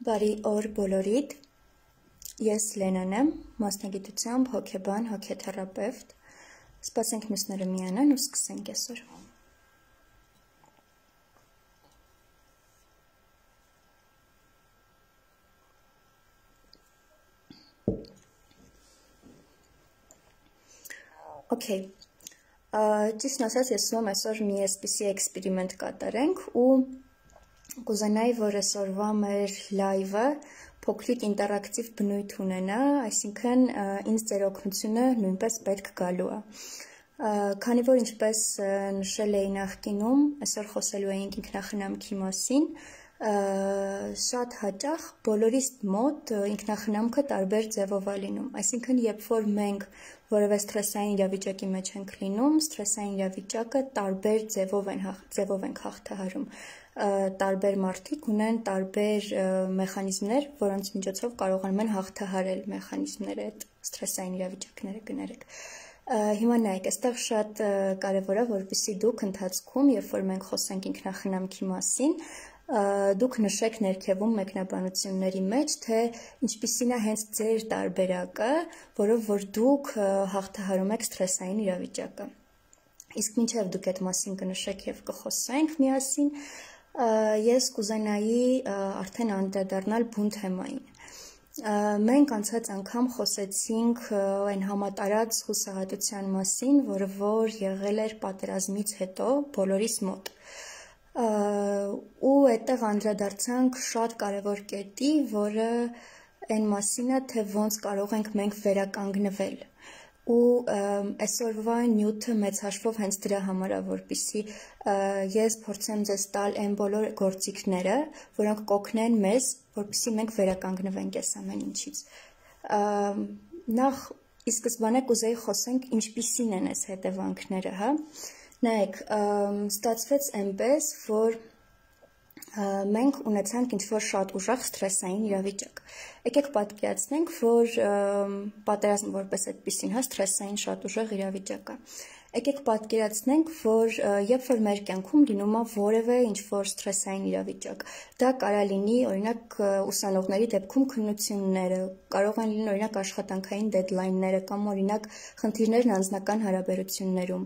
Բարի օր բոլորիդ, ես Լենան եմ, մասնագիտությամբ հոգեբան, հոգեթերապևտ, սպասենք մյուսները միանան ու սկսենք այսօր։ Okay, ճիշտն ասած ես ուզում եմ այսօր մի այսպիսի էքսպերիմենտ կատարենք ու կուզենայի, որ այսօրվա մեր լայվը փոքրիկ ինտերակտիվ բնույթ ունենա, այսինքն ինձ ձեր օգնությունը նույնպես պետք գալու է։ Քանի որ ինչպես նշել էի նախկինում, այսօր խոսելու էինք ինքնախնամքի մասին, շատ հաճախ բոլորիս մոտ ինքնախնամքը տարբեր ձևով է լինում, այսինքն երբ որ մենք որևէ սթրեսային իրավիճակի մեջ ենք լինում, սթրեսային իրավիճակը տարբեր ձևով ենք հաղթահարում, տարբեր մարդիկ ունեն տարբեր մեխանիզմներ, որոնց միջոցով կարողանում են հաղթահարել մեխանիզմները, այդ սթրեսային իրավիճակները կներեք։ Հիմա նայեք, այստեղ շատ կարևոր է, որպեսզի դուք ընթացքում, երբ որ մենք խոսենք ինքնախնամքի մասին, դուք նշեք ներքևում մեկնաբանությունների մեջ, թե ինչպիսին է հենց ձեր տարբերակը, որով որ դուք հաղթահարում եք սթրեսային իրավիճակը։ Իսկ մինչև դուք այդ մասին կնշեք եւ կխոսենք միասին, ես կուզենայի արդեն անդրադառնալ բուն թեմային։ Մենք անցած անգամ խոսեցինք այն համատարած հուսահատության մասին, որը որ եղել էր պատերազմից հետո բոլորիս մոտ։ Ու այդտեղ անդրադարձանք շատ կարևոր կետի, որը այն մասին է, թե ոնց կարող ենք մենք վերականգնվել։ Ու այսօրվա նյութը մեծ հաշվով հենց դրա համար է, որպեսզի ես փորձեմ ձեզ տալ այն բոլոր գործիքները, որոնք կօգնեն մեզ, որպեսզի մենք վերականգնվենք այս ամեն ինչից։ Նախ ի սկզբանե կուզեի խոսենք ինչպիսին են այս հետևանքները, հա։ Նայեք, ստացվեց այնպես, որ մենք ունեցանք ինչ-որ շատ ուժեղ սթրեսային իրավիճակ։ Եկեք պատկերացնենք, որ պատերազմը որպես այդպիսին, հա, սթրեսային շատ ուժեղ իրավիճակ է։ Եկեք պատկերացնենք, որ երբ որ մեր կյանքում լինում է որևէ ինչ-որ սթրեսային իրավիճակ, դա կարող լինի, օրինակ, ուսանողների դեպքում քննությունները, կարող են լինել օրինակ աշխատանքային դեդլայնները կամ օրինակ խնդիրներն անձնական հարաբերություններում։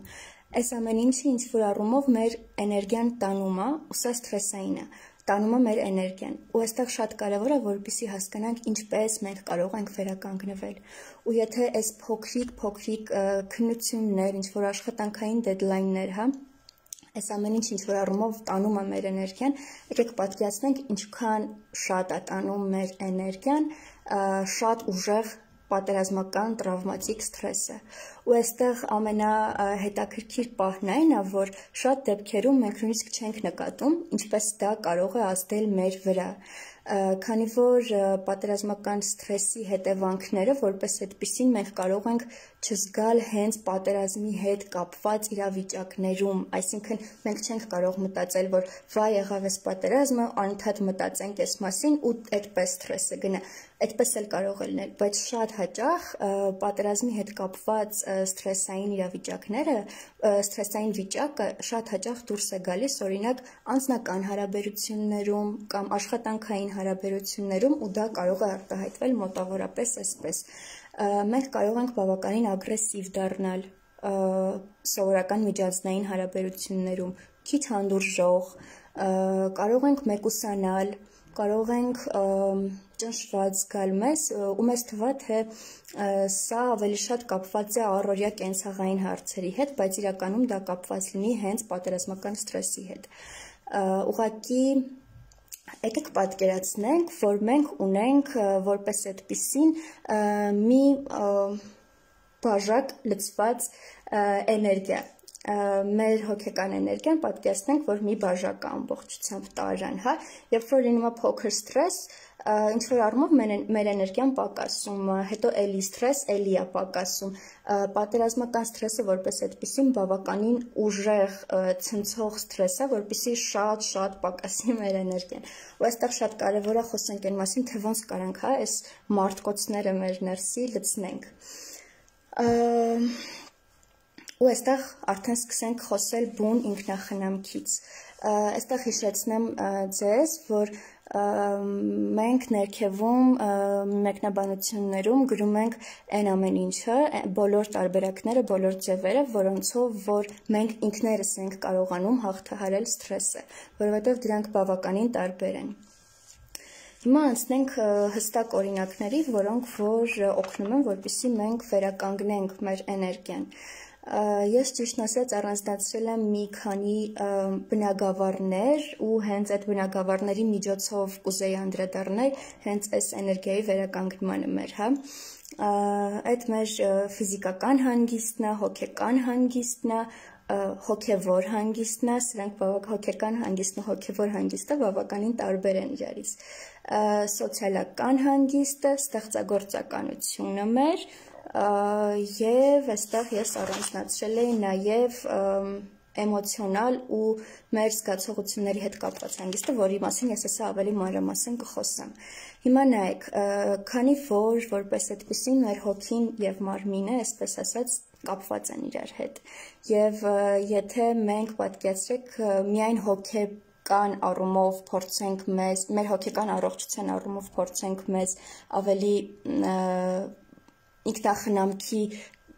Այս ամեն ինչը ինչ-որ առումով մեր էներգիան տանում է, ու սա սթրեսային է, տանում է մեր էներգիան։ Ու այստեղ շատ կարևոր է, որպեսզի հասկանանք ինչպես մենք կարող ենք վերականգնվել։ Ու եթե այս փոքրիկ քննություններ, ինչ-որ աշխատանքային դեդլայններ, հա, այս ամեն ինչ-որ առումով տանում է մեր էներգիան, եկեք պատկերացնենք ինչքան շատ է տանում մեր էներգիան, շատ ուժեղ պատերազմական տրավմատիկ սթրեսը։ Ու այստեղ ամենահետաքրքիր պահն այն է, որ շատ դեպքերում մենք նույնիսկ չենք նկատում, ինչպես դա կարող է ազդել մեր վրա, քանի որ պատերազմական սթրեսի հետևանքները, որպես այդպիսին, մենք կարող ենք չզգալ հենց պատերազմի հետ կապված իրավիճակներում, այսինքն մենք չենք կարող մտածել, որ վայ եղավ այս պատերազմը, անընդհատ մտածենք այս մասին ու այդպես սթրեսը գնա։ Այդպես էլ կարող է լինել, բայց շատ հաճախ պատերազմի հետ կապված սթրեսային իրավիճակները, սթրեսային վիճակը շատ հաճախ դուրս է գալիս, օրինակ, անձնական հարաբերություններում կամ աշխատանքային հարաբերություններում, ու դա կարող է արտահայտվել մոտավորապես այսպես։ Մենք կարող ենք բավականին ագրեսիվ դառնալ սովորական միջանձնային հարաբերություններում, քիչ հանդուրժող, կարող ենք մեկուսանալ, կարող ենք ճնշված զգալ մեզ, ու մեզ թվա, թե սա ավելի շատ կապված է առօրյա կենցաղային հարցերի հետ, բայց իրականում դա կապված լինի հենց պատերազմական սթրեսի հետ։ Ուղղակի եկեք պատկերացնենք, որ մենք ունենք որպես այդպիսին մի բաժակ լցված էներգիա, մեր հոգեկան էներգիան պատկերացնենք, որ մի բաժակ է ամբողջությամբ տարան, հա, երբ որ լինում է փոքր սթրես, ինչ-որ առումով մեր էներգիան պակասում, հետո էլի սթրես, էլի է պակասում, պատերազմական սթրեսը որպես այդպիսին բավականին ուժեղ ցնցող սթրես է, որպեսզի շատ պակասի մեր էներգիան։ Ու այստեղ շատ կարևոր է խոսենք այն մասին, թե ոնց կարանք, հա, այս մարտկոցները մեր ներսի լցնենք։ Ու այստեղ արդեն սկսենք խոսել բուն ինքնախնամքից։ Այստեղ հիշեցնեմ ձեզ, որ մենք ներքևում մեկնաբանություններում գրում ենք այն ամեն ինչը, բոլոր տարբերակները, բոլոր ձևերը, որոնցով որ մենք ինքներս ենք կարողանում հաղթահարել սթրեսը, որովհետև դրանք բավականին տարբեր են։ Հիմա անցնենք հստակ օրինակների, որոնք որ օգնում են, որպեսզի մենք վերականգնենք մեր էներգիան։ Ես ճիշտն ասած առանձնացրել եմ մի քանի բնագավառներ ու հենց այդ բնագավառների միջոցով կուզեի անդրադառնալ հենց այս էներգիայի վերականգնմանը մեր, հա։ Այդ մեր ֆիզիկական հանգիստն է, հոգեկան հանգիստն է, հոգևոր հանգիստն է, սրանք հոգեկան հանգիստն ու հոգևոր հանգիստը բավականին տարբեր են իրարից։ Սոցիալական հանգիստը, ստեղծագործականությունը մեր, եւ այստեղ ես առանձնացրել էի նաեւ էմոցիոնալ ու մեր զգացողությունների հետ կապված հանգիստը, որի մասին ես հեսա ավելի մանրամասն կխոսեմ։ Հիմա նայեք, քանի որ որպես այդպեսին մեր հոգին եւ մարմինը, այսպես ասած, կապված են իրար հետ։ Եվ եթե մենք պատկերացրեք միայն հոգեկան առումով փորձենք մեր հոգեկան առողջության առումով փորձենք մեզ ավելի ինքնախնամքի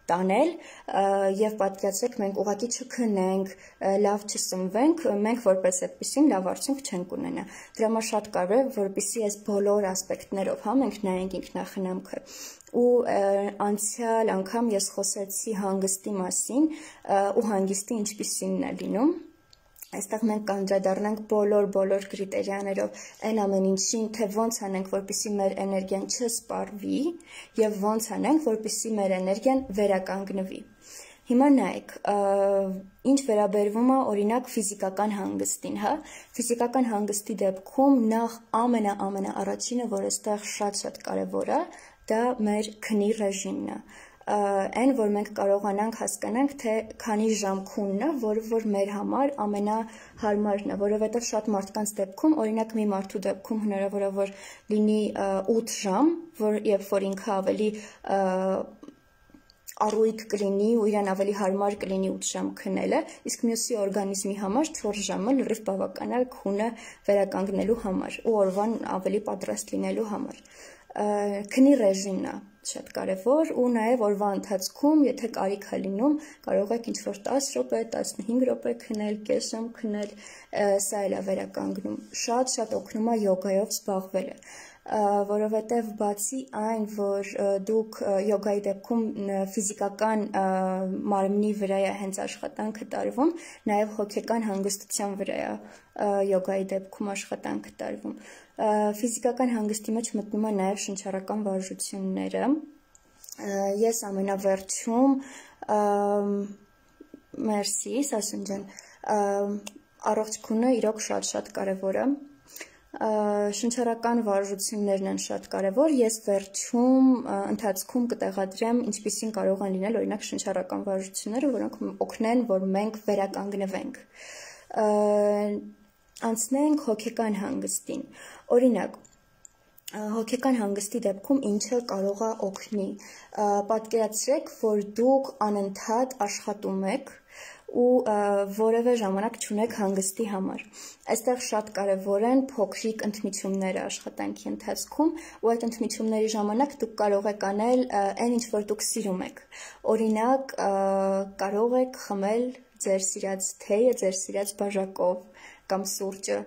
տանել եւ պատկերացրեք մենք ուղղակի չքնենք, լավ չսնվենք, մենք որպես այդպեսին լավ արդյունք չենք ունենա։ Դրա համար շատ կարևոր է, որպեսզի այս բոլոր ասպեկտներով հա մենք նայենք ինքնախնամքը։ Ու անցյալ անգամ ես խոսեցի հանգստի մասին ու հանգիստի ինչպիսինն է լինում։ Այստեղ մենք կանդրադառնանք բոլոր կրիտերիաներով այն ամեն ինչին, թե ոնց անենք, որպեսզի մեր էներգիան չսպառվի եւ ոնց անենք, որպեսզի մեր էներգիան վերականգնվի։ Հիմա նայեք, ինչ վերաբերվում է օրինակ ֆիզիկական հանգստին, հա, ֆիզիկական հանգստի դեպքում նախ ամենաառաջինը, որ այստեղ շատ կարևոր է, դա մեր քնի ռեժիմն է։ Այն, որ մենք կարողանանք հասկանանք, թե քանի ժամ քունն է, որը որ մեր համար ամենահարմարն է, որովհետև շատ մարդկանց դեպքում, օրինակ մի մարդու դեպքում հնարավոր է, որ լինի 8 ժամ, երբ որ ինքը ավելի առույգ կլինի ու իրան ավելի հարմար կլինի 8 ժամ քնելը, իսկ մյուսի օրգանիզմի համար 4 ժամը լրիվ բավական է քունը վերականգնելու համար ու օրվան ավելի պատրաստ լինելու համար։ Քնի ռեժիմն է շատ կարևոր ու նաև օրվա ընթացքում, եթե կարիք է լինում, կարող եք ինչ-որ 10 րոպե, 15 րոպե քնել, կես ժամ քնել, սա էլ է վերականգնում։ Շատ օգնում է յոգայով զբաղվելը, որովհետև բացի այն, որ դուք յոգայի դեպքում ֆիզիկական մարմնի վրա է հենց աշխատանքը տարվում, նաև հոգեկան հանգստության վրա է յոգայի դեպքում աշխատանքը տարվում։ Ֆիզիկական հանգստի մեջ մտնում է նաև շնչառական վարժությունները։ Ես ամենավերջում, մերսի, Սասուն ջան, առողջ քունը իրոք շատ կարևոր է։ Շնչառական վարժություններն են շատ կարևոր, ես վերջում ընթացքում կտեղադրեմ ինչպիսին կարող են լինել օրինակ շնչառական վարժությունները, որոնք օգնեն, որ մենք վերականգնվենք։ Անցնենք հոգեկան հանգստին, օրինակ, հոգեկան հանգստի դեպքում ինչը կարող է օգնի, պատկերացրեք, որ դուք անընդհատ աշխատում եք ու որևէ ժամանակ չունեք հանգստի համար։ Այստեղ շատ կարևոր են փոքրիկ ընդմիջումները աշխատանքի ընթացքում ու այդ ընդմիջումների ժամանակ դուք կարող եք անել այն ինչ որ դուք սիրում եք։ Օրինակ կարող եք խմել ձեր սիրած թեյը ձեր սիրած բաժակով կամ սուրճը,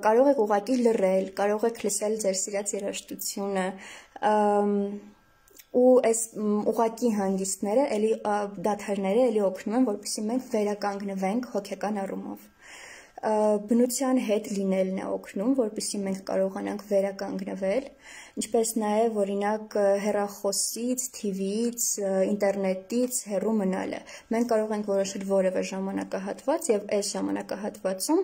կարող եք ուղղակի լռել, կարող եք լսել ձեր սիրած երաժշտությունը, ու այս ուղղակի հանգիստները, դադարները էլի օգնում են, որպեսզի մենք վերականգնվենք հոգեկան առումով։ Բնության հետ լինելն է օգնում, որպեսզի մենք կարողանանք վերականգնվել, ինչպես նաև օրինակ հեռախոսից, TV-ից, ինտերնետից հեռու մնալը։ Մենք կարող ենք որոշել որևէ ժամանակահատված եւ այս ժամանակահատվածում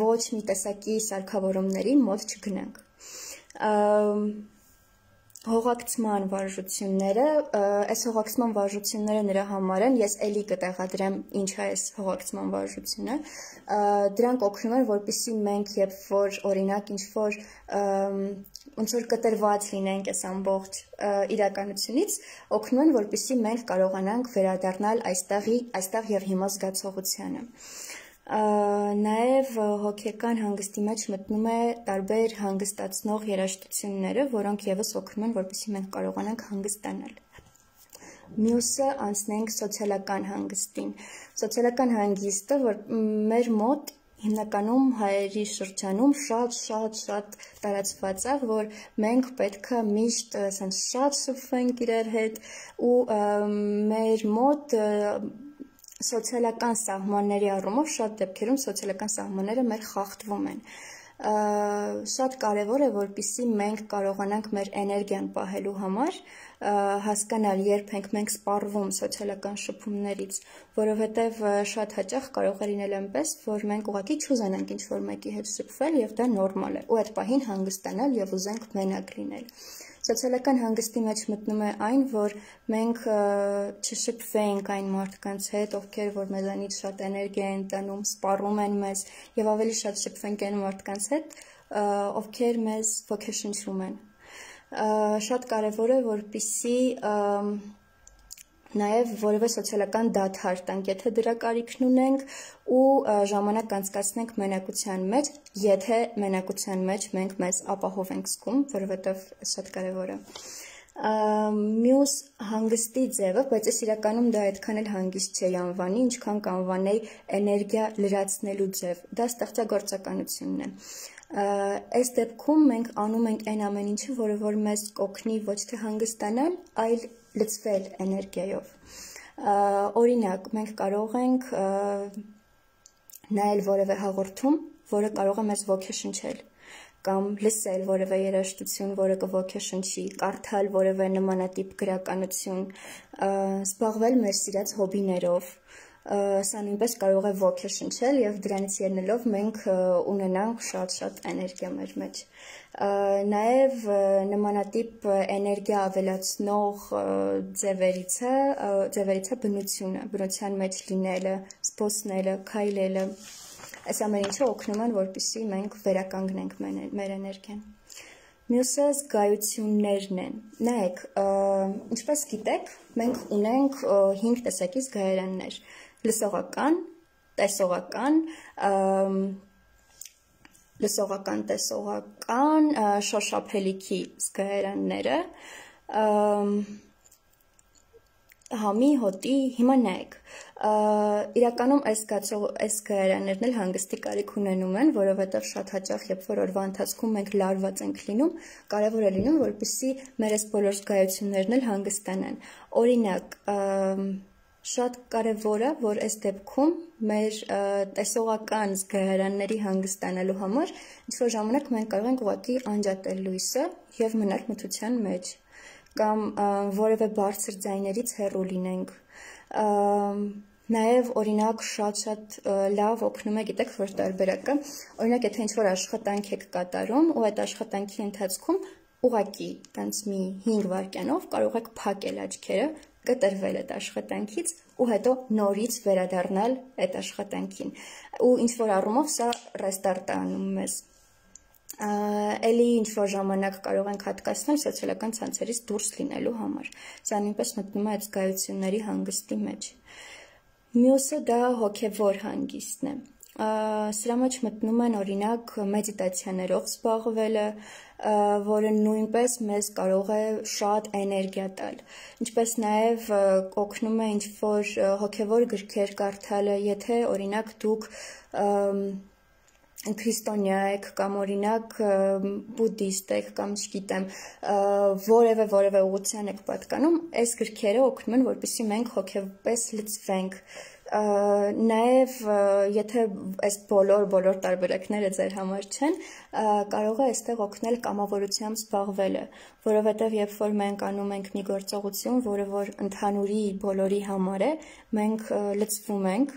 ոչ մի տեսակի սարքավորումների մոտ չգնանք։ Հողակցման վարժությունները, այս հողակցման վարժությունները նրա համար են, ես էլի կտեղադրեմ ինչ է այս հողակցման վարժությունը, դրանք օգնում են, որպեսզի մենք երբ որ օրինակ ինչ-որ ոնց որ կտրված լինենք այս ամբողջ իրականությունից, օգնում են, որպեսզի մենք կարողանանք վերադառնալ այստեղ եւ հիմա զգացողությանը։ Նաև հոգեկան հանգստի մեջ մտնում է տարբեր հանգստացնող երաժշտությունները, որոնք ևս օգնում են, որպեսզի մենք կարողանանք հանգստանալ։ Մյուսը անցնենք սոցիալական հանգստին։ Սոցիալական հանգիստը, որ մեր մոտ հիմնականում հայերի շրջանում շատ տարածված է, որ մենք պետք է միշտ շատ շփվենք իրար հետ ու մեր մոտ սոցիալական սահմանների առումով շատ դեպքերում սոցիալական սահմանները մեր խախտվում են։ Շատ կարևոր է, որպեսզի մենք կարողանանք մեր էներգիան պահելու համար հասկանալ, երբ ենք մենք սպառվում սոցիալական շփումներից, որովհետև շատ հաճախ կարող է լինել այնպես, որ մենք ուղղակի չուզենանք ինչ-որ մեկի հետ շփվել եւ դա նորմալ է, ու այդ պահին հանգստանալ եւ ուզենք մենակ լինել։ Սոցիալական հանգստի մեջ մտնում է այն, որ մենք չշփվենք այն մարդկանց հետ, ովքեր որ մեզանից շատ էներգիա են տանում, սպառում են մեզ, եւ ավելի շատ շփվենք այն մարդկանց հետ, ովքեր մեզ ոգեշնչում են։ Շատ կարևոր է, որպեսզի նաև որևէ սոցիալական դադար տանք, եթե դրա կարիքն ունենք, ու ժամանակ անցկացնենք մենակության մեջ, եթե մենակության մեջ մենք մեզ ապահով ենք զգում, որովհետև շատ կարևոր է։ Մյուս հանգստի ձևը, բայց ես իրականում դա այդքան էլ հանգիստ չէի անվանի, ինչքան կանվանեի էներգիա լրացնելու ձև, դա ստեղծագործականությունն է։ Այս դեպքում մենք անում ենք այն ամեն ինչը, որը որ մեզ կօգնի ոչ թե հանգստանալ, այլ լցվել էներգիայով։ Օրինակ, մենք կարող ենք նայել որևէ հաղորդում, որը կարող է մեզ ոգեշնչել, կամ լսել որևէ երաժշտություն, որը կոգեշնչի, կարդալ որևէ նմանատիպ գրականություն, զբաղվել մեր սիրած հոբիներով, սա նույնպես կարող է ոգեշնչել եւ դրանից ելնելով մենք ունենանք շատ էներգիա մեր մեջ։ Նաեւ նմանատիպ էներգիա ավելացնող ձևերից է բնությունը, բնության մեջ լինելը, զբոսնելը, քայլելը։ Այս ամեն ինչը օգնում են, որպեսզի մենք վերականգնենք մեր էներգիան։ Մյուսը զգայություններն են։ Նայեք, ինչպես գիտեք, մենք ունենք 5 տեսակի զգայարաններ. լսողական, տեսողական, շոշափելիքի զգայարանները, համի, հոտի, հիմա նայեք, իրականում այս զգայարաններն էլ հանգստի կարիք ունենում են, որովհետև շատ հաճախ, երբ որ օրվա ընթացքում մենք լարված ենք լինում, կարևոր է լինում, որպեսզի մեր այս բոլոր զգայություններն էլ հանգստանան։ Օրինակ, շատ կարևոր է, որ այս դեպքում մեր տեսողական զգայարանների հանգստանալու համար ինչ-որ ժամանակ մենք կարող ենք ուղղակի անջատել լույսը եւ մնալ մթության մեջ, կամ որևէ բարձր ձայներից հեռու լինենք։ Նաև օրինակ շատ լավ օգնում է, գիտեք, որ տարբերակը, օրինակ եթե ինչ-որ աշխատանք եք կատարում ու այդ աշխատանքի ընթացքում ուղղակի տենց մի 5 վայրկյանով կարող եք փակել աչքերը, կտրվել այդ աշխատանքից ու հետո նորից վերադառնալ այդ աշխատանքին։ Ու ինչ-որ առումով սա ռեստարտ է անում մեզ։ Էլի ինչ-որ ժամանակ կարող ենք հատկացնել սոցիալական ցանցերից դուրս լինելու համար։ Սա նույնպես մտնում է այդ զգայությունների հանգստի մեջ։ Մյուսը դա հոգևոր հանգիստն է։ Սրա մեջ մտնում են օրինակ մեդիտացիաներով զբաղվելը, որը նույնպես մեզ կարող է շատ էներգիա տալ։ Ինչպես նաև օգնում է ինչ-որ հոգևոր գրքեր կարդալը, եթե օրինակ դուք քրիստոնյա եք կամ օրինակ բուդդիստ եք կամ չգիտեմ որևէ ուղղության եք պատկանում, այս գրքերը օգնում են, որպեսզի մենք հոգեպես լցվենք։ Նաև եթե այս բոլոր տարբերակները ձեր համար չեն, կարող է այստեղ օգնել կամավորությամբ զբաղվելը, որովհետև երբ որ մենք անում ենք մի գործողություն, որը որ ընդհանուրի բոլորի համար է, մենք լցվում ենք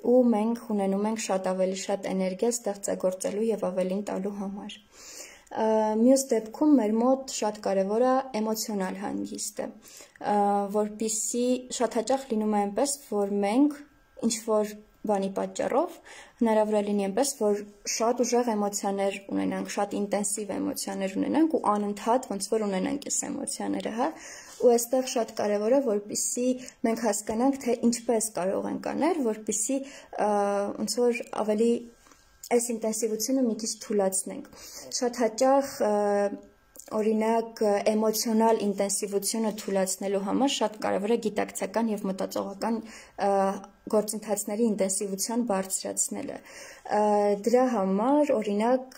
ու մենք ունենում ենք շատ ավելի շատ էներգիա ստեղծագործելու եւ ավելին տալու համար։ Մյուս դեպքում մեր մոտ շատ կարևոր է էմոցիոնալ հանգիստը, որպեսզի շատ հաճախ լինում է այնպես, որ մենք ինչ որ բանի պատճառով հնարավոր է լինի այնպես, որ շատ ուժեղ էմոցիաներ ունենանք, շատ ինտենսիվ էմոցիաներ ունենանք ու անընդհատ ոնց որ ունենանք այս էմոցիաները, հա, ու այստեղ շատ կարևոր է, որպեսզի մենք հասկանանք, թե ինչպես կարող ենք անել, որպեսզի ոնց որ ավելի այս ինտենսիվությունը մի քիչ թուլացնենք։ Շատ հաճախ օրինակ էմոցիոնալ ինտենսիվությունը թուլացնելու համար շատ կարևոր է գիտակցական եւ մտածողական գործընթացների ինտենսիվության բարձրացնելը։ Դրա համար օրինակ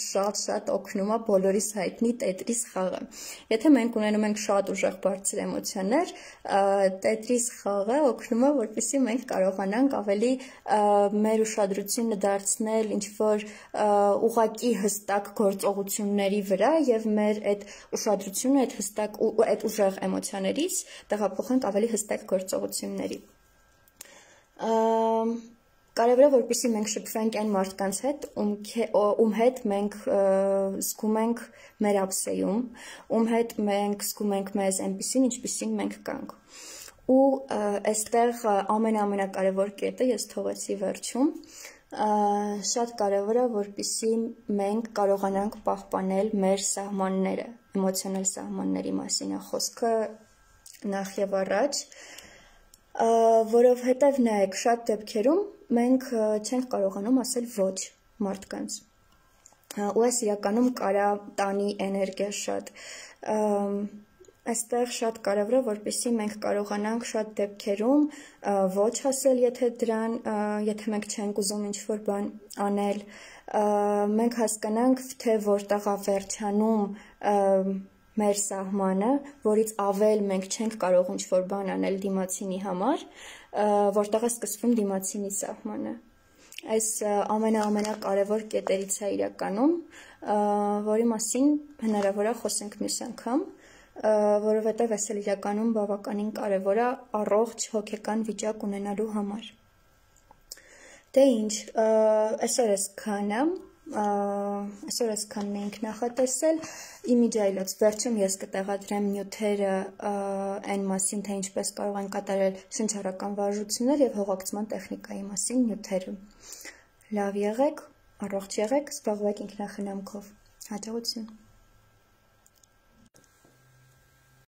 շատ օգնում է բոլորիս հայտնի Tetris խաղը։ Եթե մենք ունենում ենք շատ ուժեղ բարձր էմոցիաներ, Tetris խաղը օգնում է, որպեսզի մենք կարողանանք ավելի մեր ուշադրությունը դարձնել ինչ-որ ուղղակի հստակ գործողությունների վրա եւ մեր այդ ուշադրությունը այդ հստակ ու այդ ուժեղ էմոցիաներից տեղափոխենք ավելի հստակ գործողությունների։ Կարևոր է, որպեսզի մենք շփվենք այն մարդկանց հետ, ում հետ մենք զգում ենք մեր ափսեում, ում հետ մենք զգում ենք մեզ այնպիսին, ինչպիսին մենք կանք։ Ու այստեղ ամենակարևոր կետը ես թողեցի վերջում, շատ կարևոր է, որպեսզի մենք կարողանանք պահպանել մեր սահմանները, էմոցիոնալ սահմանների մասին է խոսքը նախ եւ առաջ, որովհետև նայեք, շատ դեպքերում մենք չենք կարողանում ասել ոչ մարդկանց, ու այս իրականում կարա տանի էներգիա շատ, այստեղ շատ կարևոր է, որպեսզի մենք կարողանանք շատ դեպքերում ոչ ասել, եթե մենք չենք ուզում ինչ-որ բան անել, մենք հասկանանք, թե որտեղ է վերջանում մեր սահմանը, որից ավել մենք չենք կարող ինչ-որ բան անել դիմացինի համար, որտեղ է սկսվում դիմացինի սահմանը։ Այս ամենակարևոր կետերից է իրականում, որի մասին հնարավոր է խոսենք մյուս անգամ, որովհետև այս էլ իրականում բավականին կարևոր է առողջ հոգեկան վիճակ ունենալու համար։ Դե ինչ, այսօր այսքանն էինք նախատեսել, իմիջ այլոց վերջում ես կտեղադրեմ նյութերը այն մասին, թե ինչպես կարող են կատարել շնչառական վարժություններ և հողակցման տեխնիկայի մասին նյութերը։ Լավ եղեք, առողջ եղեք, զբաղվեք ինքնախնամքով, հաջողություն։